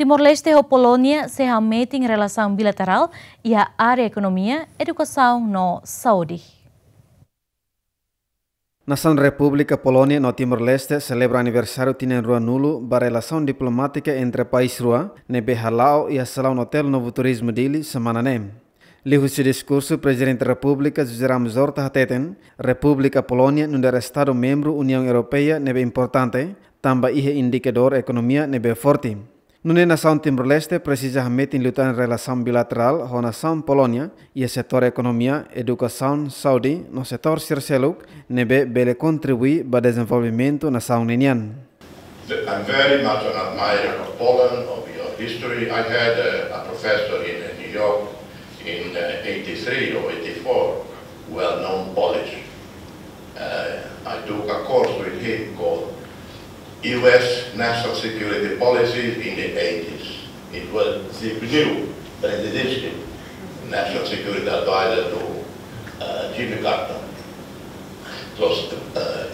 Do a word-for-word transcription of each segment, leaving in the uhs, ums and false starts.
Timor-Leste ho Polónia sei hametin relasaun bilaterál iha área ekonomia, edukasaun no saúde. Nasaun Repúblika Polónia no Timor-Leste selebra aniversáriu tinan ruanulu ba relasaun diplomátika entre país rua, ne'ebé hala'o iha Salaun Hotel Novo Turismo Dili semana ne'e. Liuhusi diskursu, Prezidente Repúblika José Ramos Horta hateten, Repúblika Polónia nu'udar estadu membru Uniaun Europeia ne'ebé importante, tanba iha indikadór ekonomia ne'ebé forte. Nune'e nasaun Timor-Leste presiza hametin liután relasaun bilaterál ho nasaun Polónia iha setór ekonomia, edukasaun, saúde no setór sira seluk ne'ebé bele kontribui ba dezenvolvimentu nasaun ninian. I'm very much an admirer of Poland, of your history. I had a, a professor in, uh, New York in, uh, eighty-three or eighty-four, well-known Polish. Uh, I took a course with him called U S National Security Policies in the eighties. It was the new Brzezinski, National Security Advisor to, uh, Jimmy Carter. It was, uh,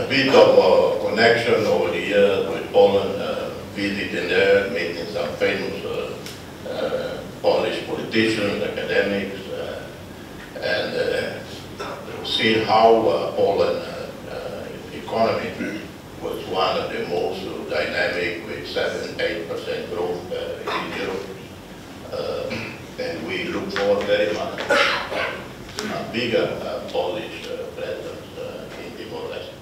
a bit of a connection over the years with Poland, uh, visiting there, meeting some famous, uh, uh, Polish politicians, academics, uh, and, uh, seeing how, uh, Poland, uh, uh, economy was one of the most dynamic, with seven, eight percent growth, uh, in Europe. Uh, and we look forward very much to a bigger, uh, Polish, uh, presence, uh, in Timor-Leste.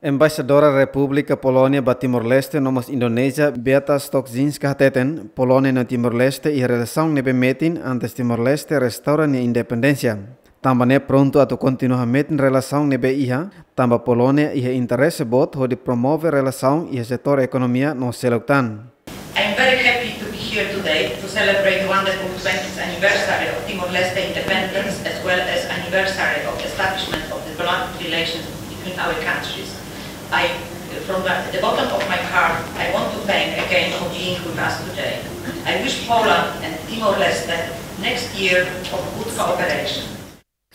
Embaixadora Repúblika Polónia ba Timor-Leste no mós Indonézia, Beata Stokzinska hateten, Polónia no Timor-Leste iha relasaun ne'ebé metin antes Timor-Leste restaura nia independénsia. Tanba ne'e prontu atu kontinua hametin relasaun ne'ebé iha, tanba Polónia iha interese boot hodi promove relasaun iha setór ekonomia no seluk tan. I am very happy to be here today to celebrate one hundred twentieth anniversary of Timor-Leste independence, as well as anniversary of establishment of diplomatic relations between our countries. I, from the, the bottom of my heart, I want to thank again for being with us today. I wish Poland and Timor-Leste next year of good cooperation.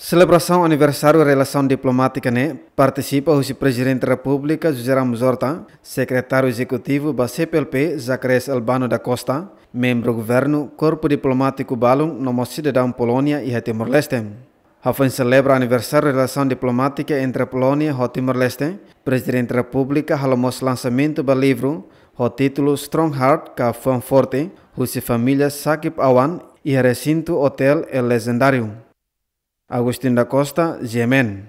Selebrasaun aniversáriu relasaun diplomátika ne'e partisipa husi Prezidente Repúblika José Ramos Horta, Sekretáriu Ezekutivu ba C P L P Zacarias Albano da Costa, membru governu, korpu diplomátiku balun no mós sidadaun Polónia iha Timor-Leste. Hafoin selebra aniversáriu relasaun diplomátika entre Polónia ho Timor-Leste, Prezidente Repúblika halo mós lansamentu ba livru ho títulu Strong Heart ka Fuan Forte, husi família Sakib Awan, iha resintu Hotel El Legendário. Agustin da Costa, G M N.